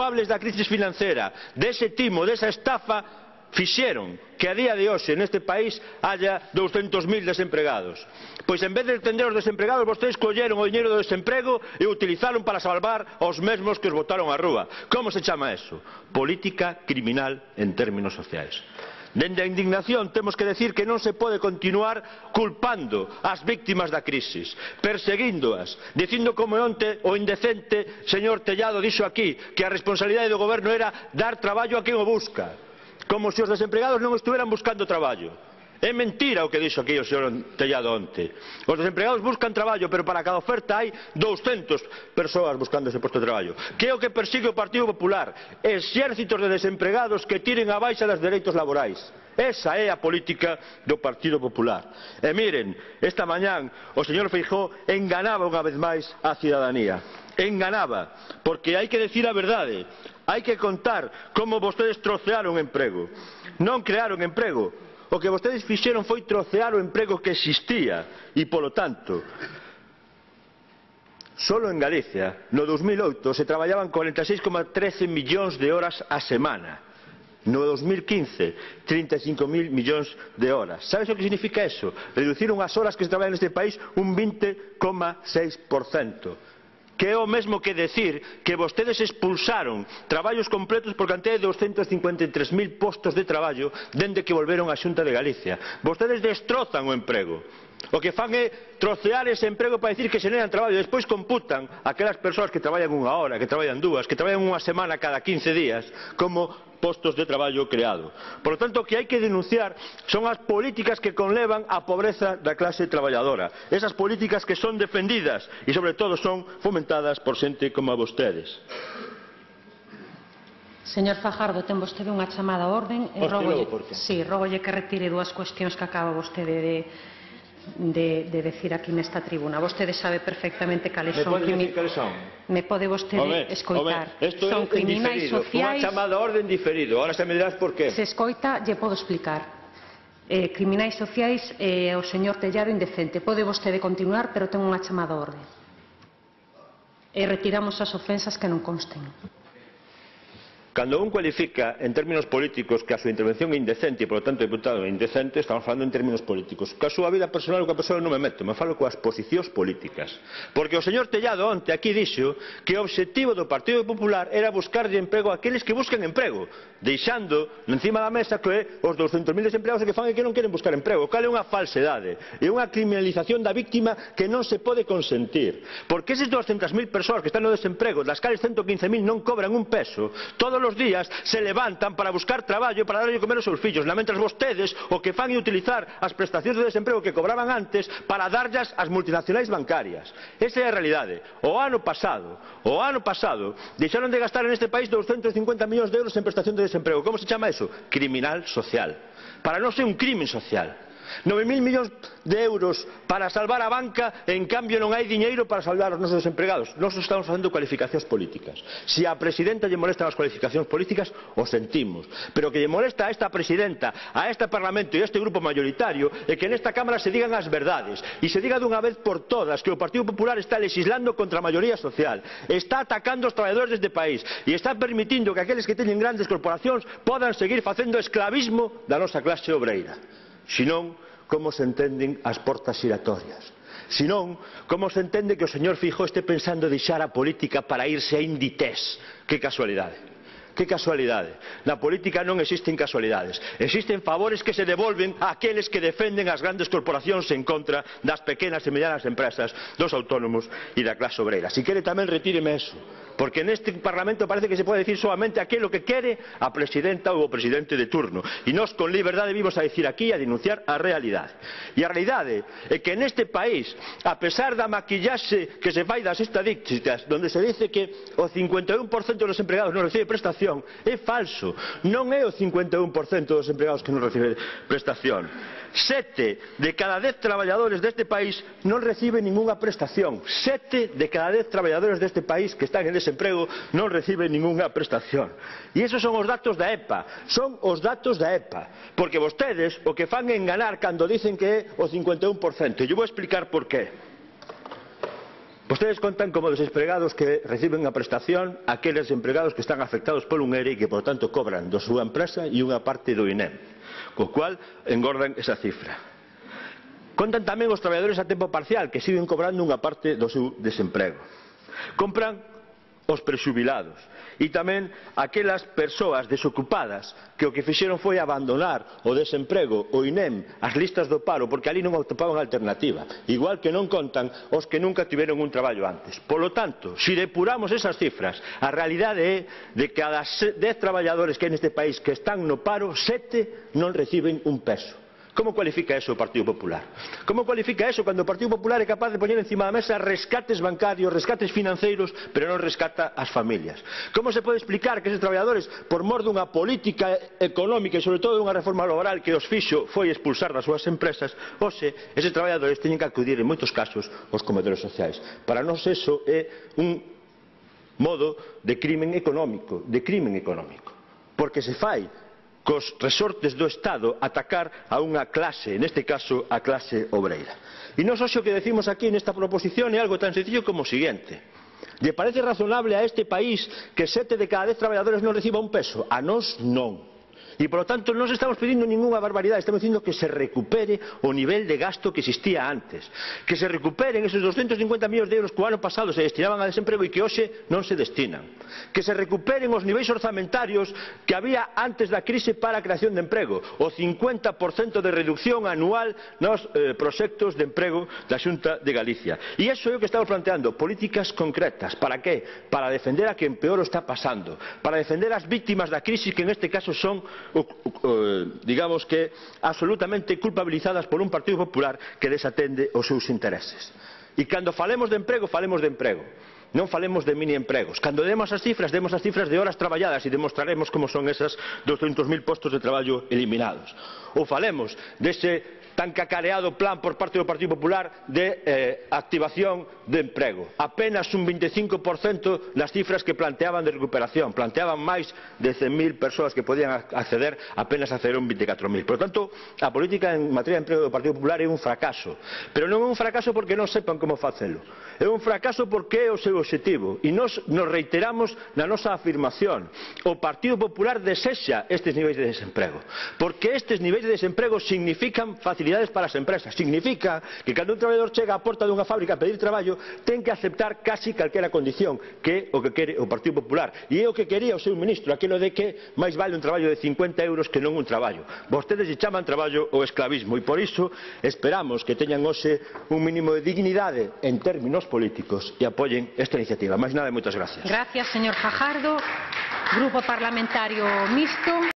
culpables da crise financiera, dese timo, desa estafa, fixeron que a día de hoxe neste país haya 200.000 desempregados. Pois en vez de atender os desempregados, vostedes colleron o diñeiro do desemprego e utilizaron para salvar aos mesmos que os botaron á rúa. Como se chama eso? Política criminal en términos sociais. Dende a indignación temos que decir que non se pode continuar culpando as víctimas da crisis, perseguíndoas, dicindo como onte o indecente señor Tellado dixo aquí que a responsabilidade do goberno era dar traballo a quen o busca, como se os desempregados non estuveran buscando traballo. É mentira o que dixo aquí o señor Tellado onte. Os desempregados buscan traballo, pero para cada oferta hai 200 persoas buscando ese posto de traballo. Que é o que persigue o Partido Popular? Exércitos de desempregados que tiren a baixa dos dereitos laborais. Esa é a política do Partido Popular. E miren, esta mañán o señor Feijóo enganaba unha vez máis a cidadanía. Enganaba, porque hai que decir a verdade. Hai que contar como vostedes trocearon emprego. Non crearon emprego. O que vostedes fixeron foi trocear o emprego que existía e, polo tanto, solo en Galicia, no 2008, se traballaban 46,13 millóns de horas a semana. No 2015, 35.000 millóns de horas. Sabes o que significa eso? Reduciron as horas que se traballan neste país un 20,6%. Que é o mesmo que decir que vostedes expulsaron traballos completos por cantidad de 253.000 postos de traballo dende que volveron á Xunta de Galicia. Vostedes destrozan o emprego. O que fan é trocear ese emprego para dicir que xeneran traballo. Despois computan aquelas persoas que traballan unha hora, que traballan dúas, que traballan unha semana cada 15 días como postos de traballo creado. Por lo tanto, o que hai que denunciar son as políticas que conlevan a pobreza da clase traballadora. Esas políticas que son defendidas e, sobre todo, son fomentadas por xente como a vostedes. Señor Fajardo, ten vostede unha chamada a orden. Rógolle que retire dúas cuestións que acaba vostede de decir aquí nesta tribuna. Vostede sabe perfectamente cales son. Me pode vostede escoitar. Son criminais sociais. Unha chamada a orden diferido. Ahora xa me dirás por qué. Se escoita, lle podo explicar. Criminais sociais e o señor Tellado indecente. Pode vostede continuar, pero ten unha chamada a orden. E retiramos as ofensas que non consten. Cando un cualifica en términos políticos que a súa intervención é indecente e, polo tanto, deputado é indecente, estamos falando en términos políticos. Que a súa vida personal ou que a persoa non me meto, me falo coas posicións políticas. Porque o señor Tellado onte aquí dixo que o obxectivo do Partido Popular era buscar de emprego a aqueles que buscan emprego, deixando encima da mesa que os 200.000 desempleados que fan é que non queren buscar emprego. Cal é unha falsedade? É unha criminalización da víctima que non se pode consentir. Porque eses 200.000 persoas que están no desemprego, das cales 115.000 non cobran un peso, todos os días se levantan para buscar traballo para darlle comer aos seus fillos, mentres vostedes o que fan é utilizar as prestacións de desemprego que cobraban antes para darllas ás multinacionais bancarias. Esa é a realidade. O ano pasado, deixaron de gastar en este país 250 millóns de euros en prestación de desemprego. Como se chama eso? Criminal social. Para non ser un crimen social. 9.000 millóns de euros para salvar a banca e en cambio non hai diñeiro para salvar os nosos desempregados. Nós estamos facendo cualificacións políticas. Se a presidenta lle molestan as cualificacións políticas, o sentimos. Pero o que lle molesta a esta presidenta, a este Parlamento e a este grupo mayoritario é que nesta Cámara se digan as verdades e se diga dunha vez por todas que o Partido Popular está legislando contra a maioría social, está atacando os traballadores deste país e está permitindo que aqueles que teñen grandes corporacións podan seguir facendo esclavismo da nosa clase obreira. Senón, como se entenden as portas xiratorias? Senón, como se entende que o señor Feijóo este pensando deixar a política para irse a Inditex? Que casualidade. Que casualidade. Na política non existen casualidades. Existen favores que se devolven a aqueles que defenden as grandes corporacións en contra das pequenas e medianas empresas, dos autónomos e da clase obreira. Si quere tamén retíreme eso. Porque neste Parlamento parece que se pode decir solamente aquilo que quere a presidenta ou o presidente de turno. E nós con liberdade vimos a decir aquí a denunciar a realidade. E a realidade é que neste país, a pesar da maquillaxe que se fai das estadísticas, donde se dice que o 51% dos empregados non recibe prestación, é falso. Non é o 51% dos empregados que non recibe prestación. 7 de cada 10 traballadores deste país non reciben ningunha prestación. 7 de cada 10 traballadores deste país que están en desemprego non reciben ningunha prestación. E esos son os datos da EPA. Son os datos da EPA. Porque vostedes o que fan é enganar cando dicen que é o 51%. E eu vou explicar por qué. Vostedes contan como desempregados que reciben a prestación aqueles empregados que están afectados por un ERE e que, por tanto, cobran da súa empresa e unha parte do INEM, co cual engordan esa cifra. Contan tamén os traballadores a tempo parcial que siguen cobrando unha parte do seu desemprego. Compran os prexubilados e tamén aquelas persoas desocupadas que o que fixeron foi abandonar o desemprego, o INEM, as listas do paro, porque ali non atopaban alternativa, igual que non contan os que nunca tiveron un traballo antes. Polo tanto, se depuramos esas cifras, a realidade é de que cada 10 traballadores que hai neste país que están no paro, 7 non reciben un peso. Como cualifica eso o Partido Popular? Como cualifica eso cando o Partido Popular é capaz de poñer encima da mesa rescates bancarios, rescates financeiros, pero non rescata as familias? Como se pode explicar que eses traballadores, por mor dunha política económica e sobre todo dunha reforma laboral que os fixo foi expulsar das súas empresas, hoxe eses traballadores teñen que acudir en moitos casos aos comedores sociais? Para nós eso é un modo de crimen económico, porque se fai cos resortes do Estado atacar a unha clase, neste caso a clase obreira. E nós hoxe o que decimos aquí nesta proposición é algo tan sencillo como o seguinte: lle parece razonable a este país que 7 de cada 10 traballadores non reciba un peso? A nós non. E, por lo tanto, non estamos pedindo ninguna barbaridade, estamos dicindo que se recupere o nivel de gasto que existía antes, que se recuperen esos 250 millóns de euros que o ano pasado se destinaban a desemprego e que hoxe non se destinan, que se recuperen os niveis orzamentarios que había antes da crise para a creación de emprego, o 50% de reducción anual nos proxectos de emprego da Xunta de Galicia. E iso é o que estamos planteando, políticas concretas. Para que? Para defender a quen peor o está pasando, para defender as vítimas da crise que neste caso son digamos que absolutamente culpabilizadas por un Partido Popular que desatende os seus intereses. E cando falemos de emprego, non falemos de mini empregos. Cando demos as cifras de horas traballadas e demostraremos como son esas 200.000 postos de traballo eliminados. Ou falemos dese tan cacareado plan por parte do Partido Popular de activación de emprego. Apenas un 25% das cifras que planteaban de recuperación. Planteaban máis de 100.000 persoas que podían acceder, apenas accederon 24.000. Por tanto, a política en materia de emprego do Partido Popular é un fracaso. Pero non é un fracaso porque non sepan como facelo. É un fracaso porque é o seu objetivo. E nos reiteramos na nosa afirmación. O Partido Popular desexa estes niveis de desemprego. Porque estes niveis de desemprego significan facilidades para as empresas. Significa que cando un traballador chega á porta dunha fábrica a pedir traballo, ten que aceptar casi calquera condición, que é o que quere o Partido Popular. E é o que quería o seu ministro, aquilo de que máis vale un traballo de 50 euros que non un traballo. Vostedes lle chaman traballo o esclavismo e por iso esperamos que teñan hoxe un mínimo de dignidade en términos políticos e apoien esta iniciativa. Máis nada e moitas gracias. Gracias, señor Fajardo. Grupo Parlamentario Mixto.